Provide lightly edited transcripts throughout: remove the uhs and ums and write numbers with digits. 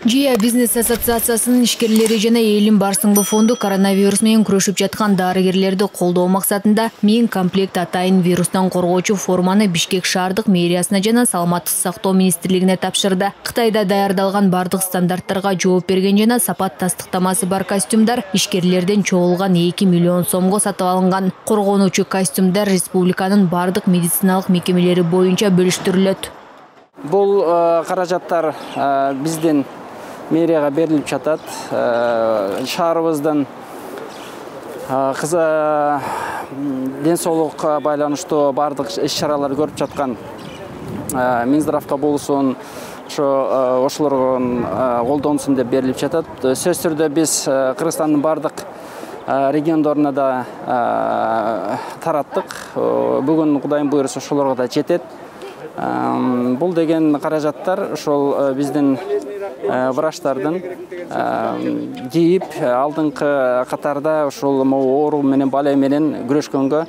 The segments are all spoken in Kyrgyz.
Жия бизнес ассоциациясынын ишкерлери жана элдин барсыңбы фонду коронавирус менен күрөшүп жаткан дарыгерлерди колдоо максатында 1000 комплект атайын вирустан коргоочу форманы Бишкек шаардык мэриясына жана Саламаттык сактоо министрлигине тапшырды. Кытайда даярдалган бардык стандарттарга жооп берген жана сапат тастыктамасы бар костюмдар ишкерлерден чогулган 2 миллион сомго сатып алынган. Коргонуучу костюмдар республиканын бардык медициналык мекемелери боюнча бөлүштүрүлөт. Бул каражаттар биздин мэрияга берилип жатат. Шаарыбыздын ден соолукка байланыштуу бардык иш-чаралар көрүп жаткан Минздравка болсун, ошолорго колдонсун деп берилип жатат. Сөзсүз түрдө биз Кыргызстандын бардык региондоруна да тараттык. Бүгүн Кудайын буйруса ошолорго да жетет. Бул деген каражаттар ошол биздин врачтардын кийип алдыңкы катарда ошол оору менен бале менен күрөшкөнгө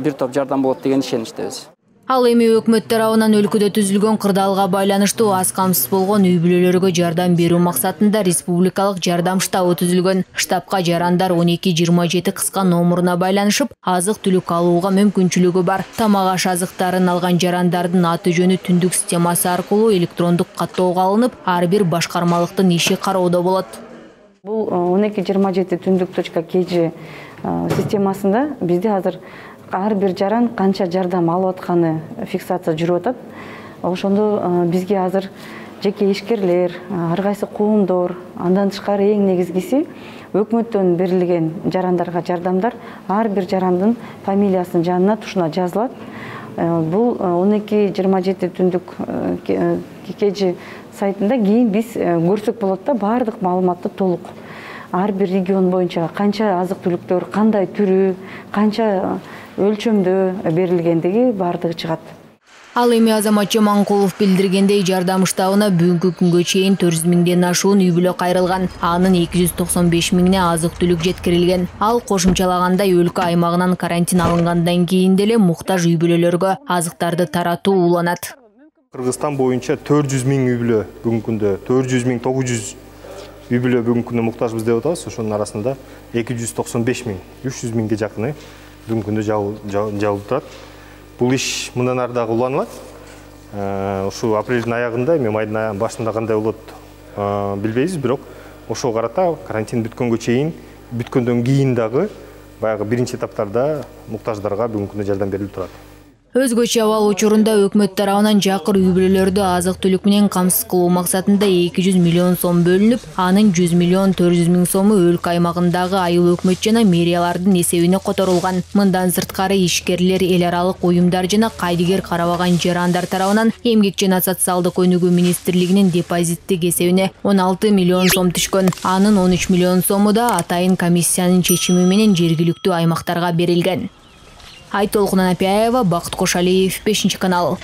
бир топ жардам болот деген ишеничтебиз. Ал эми өкмөт тарабынан өлкөдө түзүлгөн кырдаалга байланыштуу аз камсыз болгон үй бүлөлөргө жардам берүү максатында республикалык жардам штабы түзүлгөн. Штабка жарандар 12-27 кыска номуруна байланышып, азык-түлүк алууга мүмкүнчүлүгү бар. Тамак аш азыктарын алган жарандардын аты жөнү түндүк системасы аркылуу электрондук каттоого алынып, ар бир башкармалыктын иши кароодо болот. Бул 12-27 түндүк.kg системасында бизде азыр ар бир жаран канча жардам алып атканы фиксация жүрүп атат. Ошондо бизге азыр жеке ишкерлер, ар кайсы коомдор, андан тышкары эң негизгиси өкмөттөн берилген жарандарга жардамдар ар бир жарандын фамилиясынын жанына тушуна жазылат. Бул 12-27 түндүк.kg сайтында кийин биз көрсөк болот да, баардык маалыматты толук. Ар бир регион боюнча канча азык-түлүктөр, кандай түрү, канча өлчөмдө берилгендиги баардыгы чыгат. Ал эми Азаматчы Маңкулов билдиргендей, жардам штабына бүгүнкү күнгө чейин 400 миңден ашуун үй бүлө кайрылган. Анын 295 миңине азык-түлүк жеткирилген. Ал кошумчалагандай өлкө аймагынан карантин алынгандан кийин деле муктаж үй бүлөлөргө азыктарды таратуу уланат. Кыргызстан боюнча 400 миң үй бүлө бүгүнкү күндө 400 миң 900 үй бүлө бүгүнкү күндө муктажбыз деп атабыз. Ошонун арасында 295 миң 300 миңге жакыны бүгүнкү күндө жабылып турат. Бул иш мындан ары дагы уланат. Ушу апрелдин аягында, майдын башында кандай болот билбейбиз, бирок ошого карата карантин бүткөндөн кийин дагы баягы биринчи этаптарда муктаждарга бүгүнкү күндө жардам берилип турат. Өзгөчө абал учурунда өкмөт тарабынан жакыр үй бүлөлөрдү азык-түлүк менен камсыз кылуу максатында 200 миллион сом бөлүнүп, анын 100 миллион 400 миң сому өлкө аймагындагы айыл өкмөт жана мэриялардын эсебине которулган. Мындан сырткары ишкерлер, эл аралык уюмдар жана кайдыгер карабаган жарандар тарабынан Эмгек жана социалдык өнүгүү министрлигинин депозиттик эсебине 16 миллион сом түшкөн. Анын 13 миллион сому да атайын комиссиянын чечими менен жергиликтүү аймактарга берилген. Айтолкун Анапияева, Бакыт Кошалиев, 5 канал.